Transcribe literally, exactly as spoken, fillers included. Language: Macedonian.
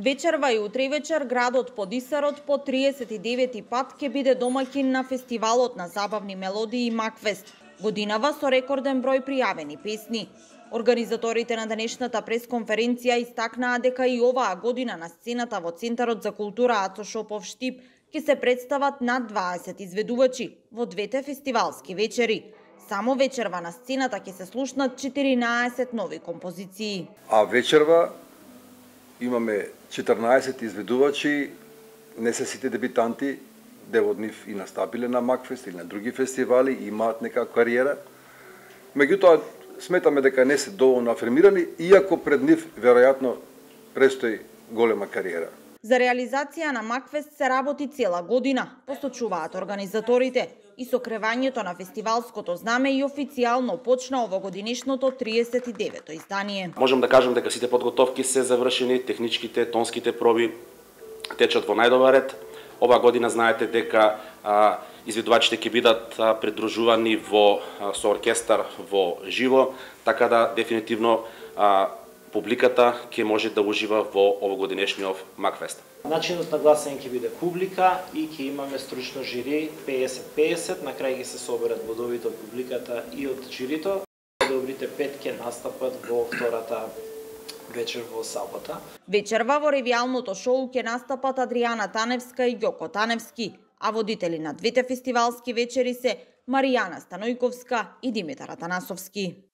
Вечерва и утре вечер градот Подисарот по триесет и девети пат ќе биде домаќин на фестивалот на забавни мелодии Макфест, годинава со рекорден број пријавени песни. Организаторите на денешната пресконференција истакнаа дека и оваа година на сцената во Центарот за култура Ацо Шопов Штип ќе се представат над дваесет изведувачи во двете фестивалски вечери. Само вечерва на сцената ќе се слушнат четиринаесет нови композиции. А вечерва имаме четрнаесет изведувачи, не се сите дебитанти, дел од нив и настапиле на Макфест или на други фестивали и имаат некаква кариера. Меѓутоа, сметаме дека не се доволно афирмирани, иако пред нив веројатно престои голема кариера. За реализација на Макфест се работи цела година, посочуваат организаторите, и со кревањето на фестивалското знаме и официјално почна овогодинешното триесет и девето издание. Можем да кажем дека сите подготовки се завршени, техничките, тонските проби течат во најдобар ред. Ова година знаете дека а, изведувачите ќе бидат а, придружувани во а, со оркестар во живо, така да дефинитивно а, публиката ќе може да ужива во овогодинешниот Макфест. Начинот на гласање ќе биде публика и ќе имаме стручно жири песет песет, на крај ќе се соберат бодовите од публиката и од жирито. Добрите пет ќе настапат во втората вечер во сабота. Вечерва во ревијалното шоу ќе настапат Адријана Таневска и Ѓоко Таневски, а водители на двете фестивалски вечери се Маријана Станојковска и Димитар Атанасовски.